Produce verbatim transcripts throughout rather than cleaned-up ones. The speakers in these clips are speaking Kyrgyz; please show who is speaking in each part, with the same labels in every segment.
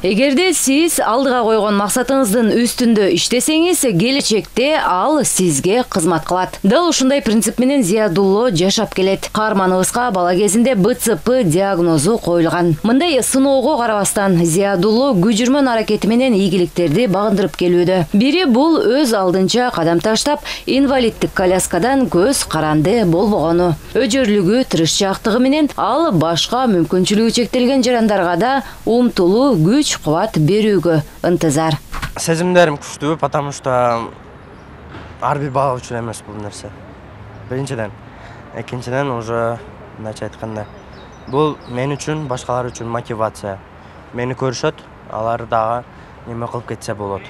Speaker 1: Эгерде сиз алдыга койгон максатыңыздын үстүндө иштесеңиз, келечекте ал сизге кызмат кылат. Дал ушундай принцип менен Зиядулло жашап келет. Каарманыбызга бала кезинде Б Ц П диагнозу коюлган. Мындай сыноого карабастан Зиядулло күжүрмөн аракети менен ийгиликтерди багындырып келүүдө. Бири бул өз алдынча кадам таштап, инвалиддик коляскадан көз каранды болбогону. Өжөрлүгү, тырышчаактыгы менен ал башка мүмкүнчүлүгү чектелген жарандарга да умтулуу күч кубат берүүгө ынтызар.
Speaker 2: Сезимдерим күчтүү, потому что ар бир бала үчүн эмес бул нерсе. Биринчиден, экинчиден уже мындайча айтканда, бул мен үчүн, башкалар үчүн мотивация. Мени көрүшөт, алар дагы неме кылып кетсе болот.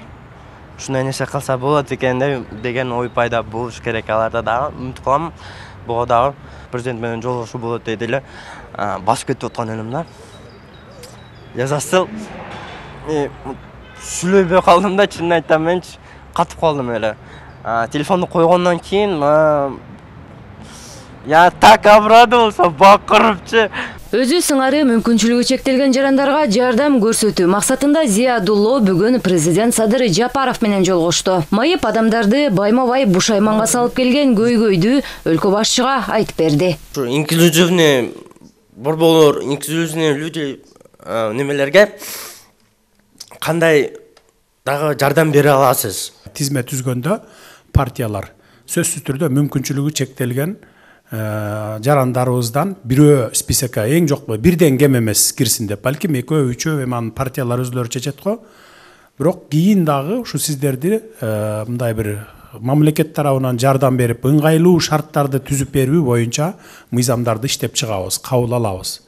Speaker 2: Ушундай нерсе кылса болот экен деген ой пайда болуш керек. Аларда дагы үмүт кылам. Буга дагы президент менен жолугушуу болот дейт эле. Басып кетип аткан элем да. Я застыл. Сүйлөбөй калдым да, чынын айтсам менчи катып калдым эле. Телефонду койгондон кийин я так обрадовался, бакырыпчы.
Speaker 1: Өзү сыңары мүмкүнчүлүгү чектелген жарандарга жардам көрсөтүү максатында Зиядулло бүгүн президент Садыр Жапаров менен жолугушту. Майып адамдарды байма-бай бушайманга салып келген көйгөйдү өлкө башчыга айтып берди.
Speaker 2: Инклюзивный борборлор, инклюзивный люди немелерге кандай дагы жардам бере аласыз?
Speaker 3: Тизме түзгөндө партиялар сөзсүз түрдө мүмкүнчүлүгү чектелген жарандарыбыздан бирөө списокко эң жокпу бирден кем эмес кирсин деп, балким экөө үчөө эми анын партиялар өзлөрү чечет го. Бирок кийин дагы ушу сиздерди мындай бир мамлекет тарабынан жардам берип, ыңгайлуу шарттарды түзүп берүү боюнча мыйзамдарды иштеп чыгабыз, кабыл алабыз.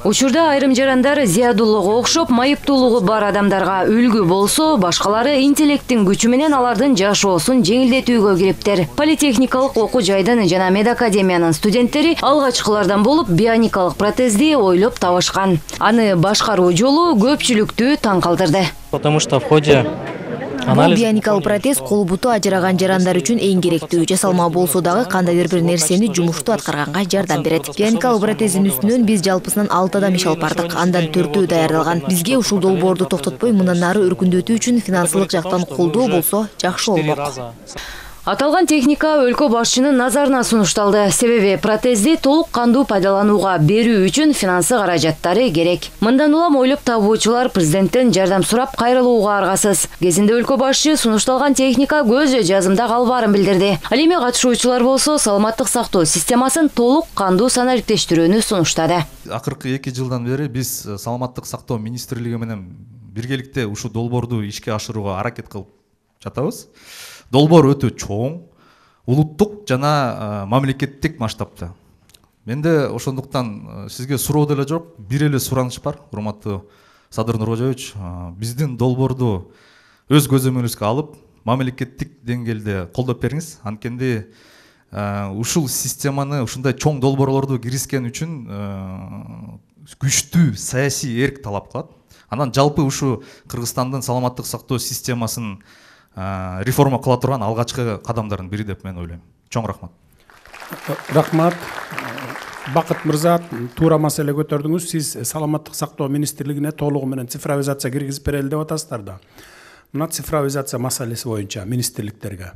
Speaker 1: Учурда айрым жарандар Зиядуллого окшоп майыптуулугу бар адамдарга үлгү болсо, башкалары интеллекттин күчү менен алардын жашоосун жеңилдетүүгө кириптер. Политехникалык окуу жайдын жана медакадемиянын студенттери алгачкылардан болуп бионикалык протезди ойлоп табышкан. Аны башкаруу жолу көпчүлүктү таң калтырды.
Speaker 4: Потому что в ходе
Speaker 5: Бул бионикалык протез кол буту ажыраган жарандар үчүн эң керектүү. Жасалма болсо дагы кандайдыр бир нерсени жумуштуу аткарганга жардам берет. Бионикалык протездин үстүнөн биз жалпысынан алты адам иш алып бардык. Андан төртөө даярдалган. Бизге ушул долбоорду токтотпой мындан ары өркүндөтүү үчүн финансылык жактан колдоо болсо жакшы болмок.
Speaker 1: Аталган техника өлкө башчынын назарына сунушталды. Себеби протезди толук кандуу пайдаланууга берүү үчүн финансы каражаттары керек. Мындан улам ойлоп табуучулар президенттен жардам сурап кайрылууга аргасыз. Кезинде өлкө башчы сунушталган техника көз жазымда калбаарын билдирди. Ал эми катышуучулар болсо саламаттык сактоо системасын толук кандуу санариптештирүүнү сунуштады.
Speaker 6: Акыркы эки жылдан бери биз саламаттык сактоо министрлиги менен биргеликте ушул долбоорду ишке ашырууга аракет кылып жатабыз. Долбоор өтө чоң, улуттук жана мамлекеттик масштабта. Менде ошондуктан сизге суроо деле жок, бир эле сураныш бар, урматтуу Садыр Нуркожоевич. Биздин долбоорду өз көзөмөлүңүзгө алып, мамлекеттик деңгээлде колдоп бериңиз. Анткенде ушул системаны, ушундай чоң долбоорлорду киргизген үчүн күчтүү саясий эрк талап кылат. Анан жалпы ушу Кыргызстандын саламаттык сактоо системасын реформа кыла турган алгачкы кадамдардын бири деп мен ойлойм. Чоң рахмат.
Speaker 3: Рахмат. Бакыт мырза, туура маселе көтөрдүңүз. Сиз саламаттык сактоо министрлигине толугу менен цифровизация киргизип берели деп атасыздар да. Мына цифровизация маселеси боюнча министрликтерге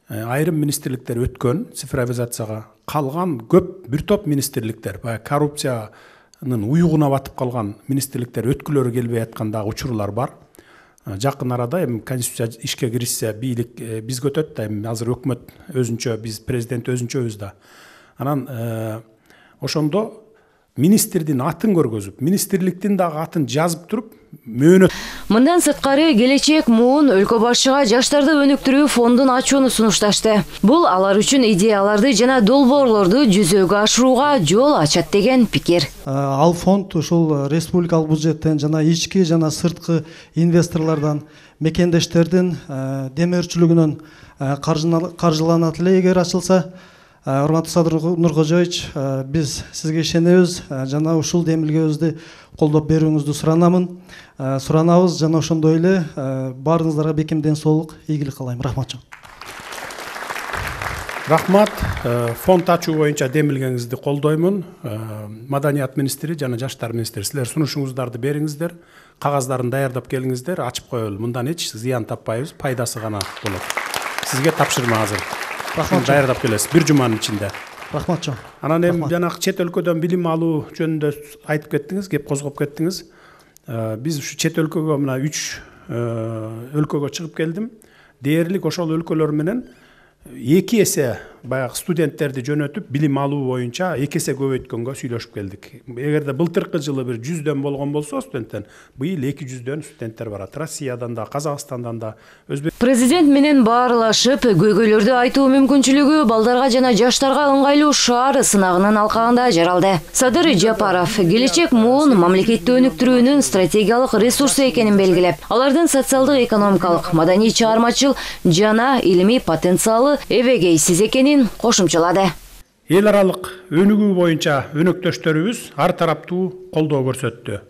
Speaker 3: айрым министрликтер өткөн цифровизацияга, калган көп бир топ министрликтер баягы коррупциянын уюгуна батып калган министрликтер өткүлөрү келбей аткандагы учурлар бар. Жакын арада эми конституция ишке киришсе бийлик биз көтөт да, эми азыр өкмөт өзүнчө, биз президент өзүнчөбүз да. Анан ошондо министрдин атын көргөзүп, министрликтин дагы атын жазып туруп мөөнөт.
Speaker 1: Мындан сырткары келечек муун өлкө башчыга жаштарды өнүктүрүү фондун ачууну сунушташты. Бул алар үчүн идеяларды жана долбоорлорду жүзөгө ашырууга жол ачат деген пикир.
Speaker 7: Ал фонд ушул республикалык бюджеттен жана ички жана сырткы инвесторлордон, мекендештердин демөөрчүлүгүнөн каржыланат эле. Эгер ачылса, урматтуу Садыр Нуркожоевич, биз сизге ишенебиз жана ушул демилгебизди колдоп берүүңүздү суранамын. Суранабыз жана ошондой эле баарыңыздарга бекем ден соолук, ийгилик каалайм. Рахмат.
Speaker 3: Рахмат. Фонд ачуу боюнча демилгениңизди колдоймун. Маданият министри жана жаштар министри, силер сунушуңуздарды бериңиздер, кагаздарын даярдап келиңиздер, ачып коелу. Мындан эч зыян таппайбыз, пайдасы гана болот. Сизге тапшырма азыр. Рахмат, даярдап келесиз бир жуманын ичинде.
Speaker 7: Рахмат жон.
Speaker 3: Анан эми жанагы чет өлкөдөн билим алуу жөнүндө айтып кеттиңиз, кеп козгоп кеттиңиз. Биз ушу чет өлкөгө мына үч өлкөгө чыгып келдим. Дээрлик ошол өлкөлөр менен эки эсе баягы студенттерди жөнөтүп билим алуу боюнча эки эсе көбөйткөнгө сүйлөшүп келдик. Эгерде былтыркы жылы бир жүздөн болгон болсо студенттен, быйыл эки жүздөн студенттер барат. Россиядан да, Казакстандан да, Өзбек.
Speaker 1: Президент менен баарлашып, көйгөйлөрдү айтуу мүмкүнчүлүгү балдарга жана жаштарга ыңгайлуу шаар сынагынын алкагында жаралды. Садыр Жапаров келечек муун мамлекетти өнүктүрүүнүн стратегиялык ресурсу экенин белгилеп, алардын социалдык, экономикалык, маданий чыгармачыл жана илимий потенциалы эбегейсиз экенин кошумчалады.
Speaker 3: Эл аралык өнүгүү боюнча өнөктөштөрүбүз ар тараптуу колдоо көрсөттү.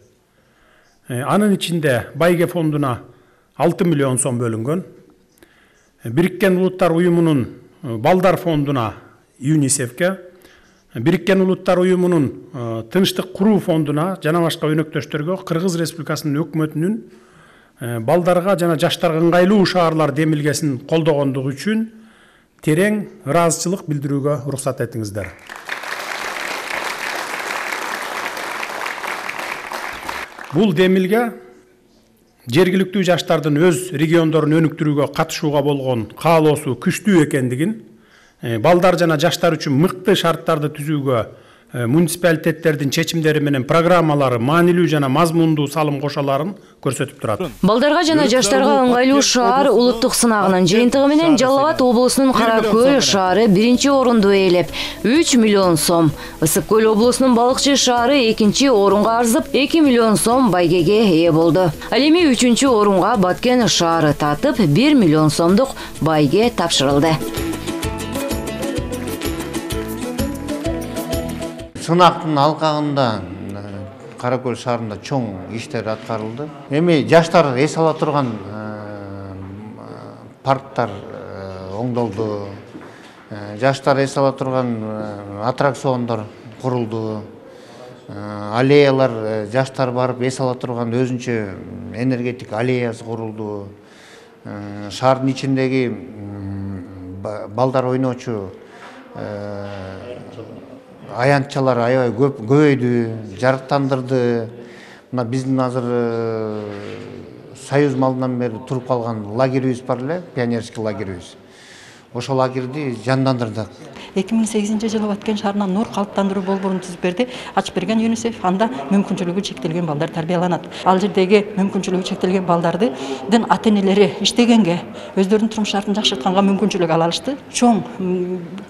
Speaker 3: Анын ичинде Байге фондуна алты миллион сом бөлүнгөн. Бириккен Улуттар уюмунун Балдар фондуна ЮНИСЕФке, Бириккен Улуттар уюмунун Тынчтык куруу фондуна жана башка өнөктөштөргө Кыргыз Республикасынын өкмөтүнүн балдарга жана жаштарга ыңгайлуу шаарлар демилгесин колдогондугу үчүн терең ыраазычылык билдирүүгө уруксат этиңиздер. Бул демилге жергиликтүү жаштардын өз региондорун өнүктүрүүгө катышууга болгон каалоосу күчтүү экендигин, балдар жана жаштар үчүн мыкты шарттарды түзүүгө муниципалитеттердин чечимдери менен программалары маанилүү жана мазмундуу салым кошаларын көрсөтүп турат.
Speaker 1: Балдарга жана жаштарга ыңгайлуу шаар улуттук сынагынын жыйынтыгы менен Жалал Абад облусунун Кара Көл шаары биринчи орунду ээлеп, үч миллион сом, Ысык Көл облусунун Балыкчы шаары экинчи орунга арзып, эки миллион сом байгеге ээ болду. Ал эми үчүнчү орунга Баткен шаары татып, бир миллион сомдук байге тапшырылды.
Speaker 4: Сынактын алкагында Кара Көл шаарында чоң иштер аткарылды. Эми жаштар эс ала турган парктар оңдолду. Жаштар эс ала турган аттракциондор курулду. Аллеялар, жаштар барып эс ала турган өзүнчө энергетик аллеясы курулду. Шаардын ичиндеги балдар ойночу аянтчалар аябай көп көбөйдү, жарыктандырды. Мына биздин азыр Союз малынан бери туруп калган лагерибиз бар эле, пионерский лагерибиз. Ошол лагерди жандандырдык.
Speaker 8: эки миң сегизинчи жылы Баткен шаарына нур калыптандыруу болборун түзүп берди. Ачып берген ЮНИСЕФ, анда мүмкүнчүлүгү чектелген балдар тарбияланат. Ал жердеги мүмкүнчүлүгү чектелген балдардын ата-энелери иштегенге, өздөрүнүн турмуш шартын жакшыртканга мүмкүнчүлүк ала алышты. Чоң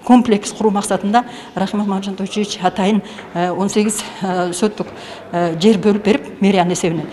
Speaker 8: комплекс куруу максатында Рахимов Мамжан Тойчуевич атайын он сегиз сөттүк жер бөлүп берип, мэриянын эсебинен,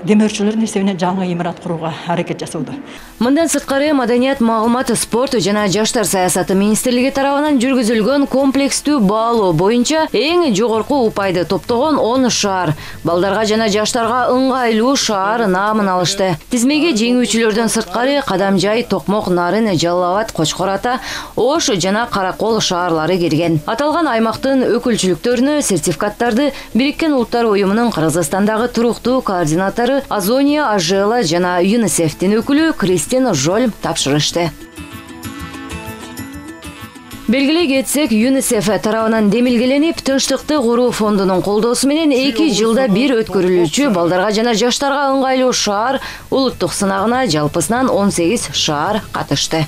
Speaker 8: демөөрчүлөрдүн эсебинен жаңы имарат курууга аракет жасоодо.
Speaker 1: Мындан сырткары Маданият, маалымат, спорт жана жаштар саясаты министрлиги тарабынан жүргүзүлгөн комплекстүү баалоо боюнча эң жогорку упайды топтогон он шаар балдарга жана жаштарга ыңгайлуу шаар наамын алышты. Тизмеге жеңүүчүлөрдөн сырткары Кадамжай, Токмок, Нарын, Жалал Абад, Кочкор Ата, Ош жана Каракол шаарлары кирген. Аталган аймактын өкүлчүлүктөрүнө сертификаттарды Бириккен Улуттар уюмунун Кыргызстандагы туруктуу координатору Азония Ажела жана ЮНИСЕФтин өкүлү Кристин Жоль тапшырышты. Белгилей кетсек, ЮНИСЕФ тарабынан демилгеленип, Тынчтыкты куруу фондунун колдоосу менен эки жылда бир өткөрүлүүчү балдарга жана жаштарга ыңгайлуу шаар улуттук сынагына жалпысынан он сегиз шаар катышты.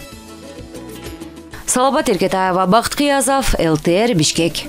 Speaker 1: Салабат Эркетаева, Бакыт Кыязов, эл тэ эр Бишкек.